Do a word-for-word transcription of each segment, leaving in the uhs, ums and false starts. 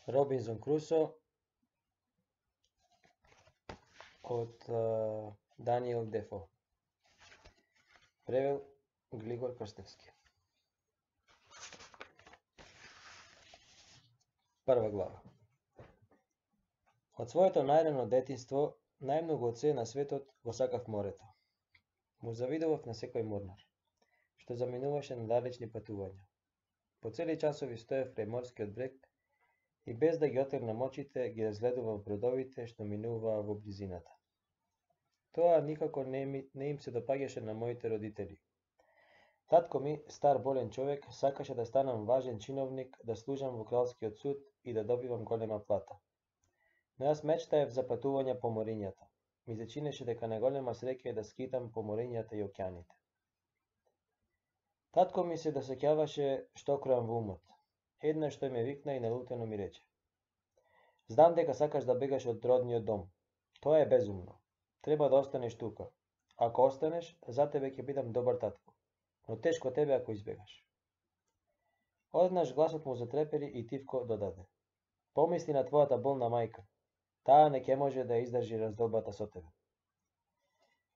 Робинзон Крусо од Даниел Дефо. Превел Глигор Крстевски. Прва глава. Од своето најрано детинство, најмногу од се на светот го сакав морето. Му завидував на секој морнар, што заминуваше на далечни патувања. По цели часови стоев крај морскиот брег и без да ги отегнам очите ги разгледував бродовите што минуваа во близината. Тоа никако не, ми, не им се допаѓаше на моите родители. Татко ми, стар болен човек, сакаше да станам важен чиновник, да служам во кралскиот суд и да добивам голема плата. Но јас мечтаев за патување по морињата. Ми се чинеше дека најголема среќа е да скитам по морињата и океаните. Татко ми се досеќаваше што кроам во умот. Еднаш тој ме викна и налутено ми рече: "Знам дека сакаш да бегаш од родниот дом. Тоа е безумно. Треба да останеш тука. Ако останеш, за тебе ќе бидам добар татко, но тешко тебе ако избегаш." Однаш гласот му затрепери и тивко додаде: "Помисли на твојата болна мајка. Таа не ќе може да ја издржи раздолбата со тебе."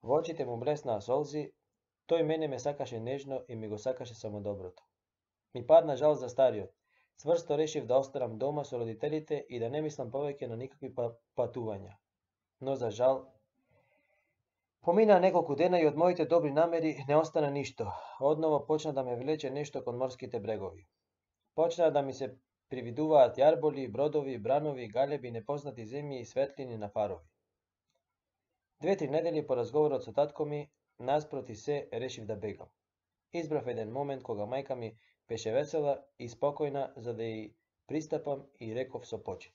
Во очите му блеснаа солзи. Тој мене ме сакаше нежно и ми го сакаше само доброто. Ми падна жал за стариот. Цврсто решив да останам дома со родителите и да не мислам повеќе на никакви патувања. Но за жал, поминаа неколку дена и од моите добри намери не остана ништо. Одново почна да ме влече нешто кон морските брегови. Почнаа да ми се привидуваат јарболи, бродови, бранови, галеби, непознати земји и светлини на фарови. Две-три недели по разговорот со татко ми, наспроти се решив да бегам. Избрав еден момент кога мајка ми беше весела и спокојна, за да ја пристапам и реков со почит: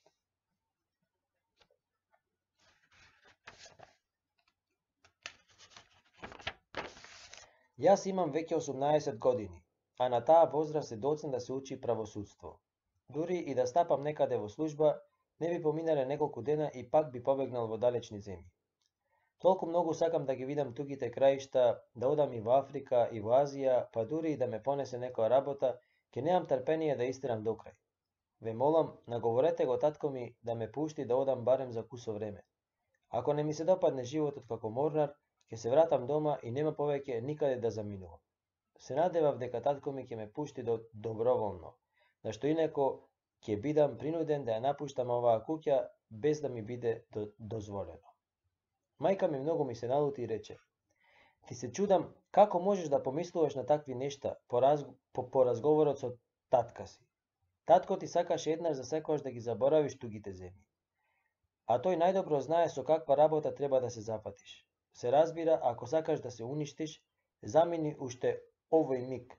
"Јас имам веќе осумнаесет години, а на таа возраст е доцна да се учи правосудство. Дури и да стапам некаде во служба, не би поминале неколку дена и пак би побегнал во далечни земји. Толку многу сакам да ги видам тугите краишта, да одам и во Африка, и во Азија, па дури и да ме понесе некоја работа, ќе немам трпение да истерам до крај. Ве молам, наговорете го татко ми да ме пушти да одам барем за кусо време. Ако не ми се допадне животот како морнар, ќе се вратам дома и нема повеќе никаде да заминувам." Се надевав дека татко ми ќе ме пушти до доброволно, на што инако ќе бидам принуден да ја напуштам оваа куќа без да ми биде до, дозволено. Мајка ми многу ми се налути и рече: "Ти се чудам како можеш да помислуваш на такви нешта по, раз, по, по разговорот со татка си. Татко ти сакаше еднаш за секогаш да ги заборавиш тугите земји. А тој најдобро знае со каква работа треба да се зафатиш. Се разбира, ако сакаш да се уништиш, замини уште овој миг,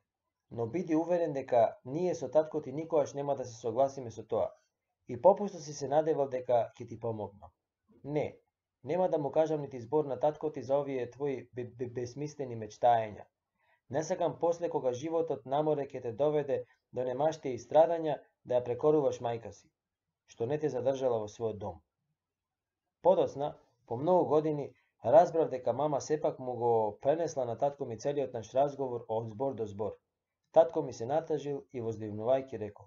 но биди уверен дека ние со татко ти никогаш нема да се согласиме со тоа. И попусто си се надевал дека ќе ти помогнам. Не, нема да му кажам нити збор на татко ти за овие твои безсмислени мечтаења. Не сакам после кога животот на море ќе те доведе до немаштија и страдања да ја прекоруваш мајка си, што не те задржала во својот дом." Подоцна, по многу години, разбрав дека мама сепак му го пренесла на татко ми целиот наш разговор од збор до збор. Татко ми се натажил и воздивнувајќи рекол: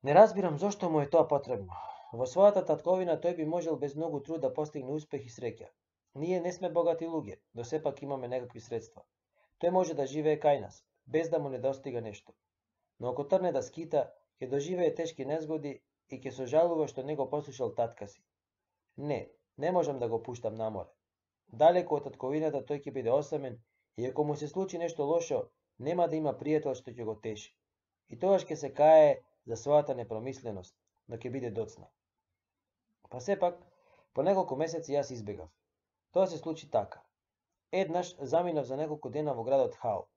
"Не разбирам зошто му е тоа потребно. Во својата татковина тој би можел без многу труд да постигне успех и среќа. Ние не сме богати луѓе, но сепак имаме некакви средства. Тој може да живее кај нас, без да му недостига нешто. Но ако трне да скита, ќе доживее тешки незгоди и ќе сожалува што не го послушал татка си. Не, не можам да го пуштам на море. Далеку од татковината тој ќе биде осамен и ако му се случи нешто лошо, нема да има пријател што ќе го теши. И тогаш ќе се кае за својата непромисленост, но ќе биде доцна." Па сепак, по неколку месеци јас избегав. Тоа се случи така. Еднаш заминав за неколку дена во градот Хал.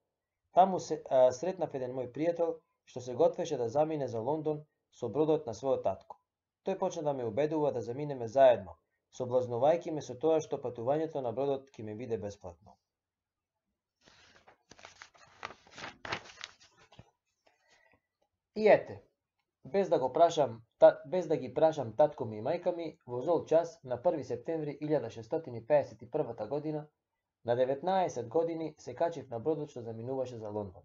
Таму се а, сретнав еден мој пријател што се готвеше да замине за Лондон со бродот на својот татко. Тој почна да ме убедува да заминеме заедно, соблазнувајќи ме со тоа што патувањето на бродот ќе ми биде бесплатно. И ете, без да го прашам, та, без да ги прашам татко ми и мајка ми, во зол час на први септември илјада шестстотини пеесет и прва година, на деветнаесет години се качив на бродот што заминуваше за Лондон.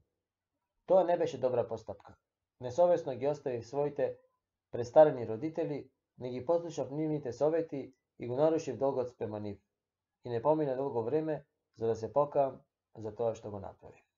Тоа не беше добра постапка. несовесно ги оставив своите престарени родители, не ги послушав нивните совети и го нарушив долгот спрема нив. И не помина долго време за да се покаам за тоа што го направив.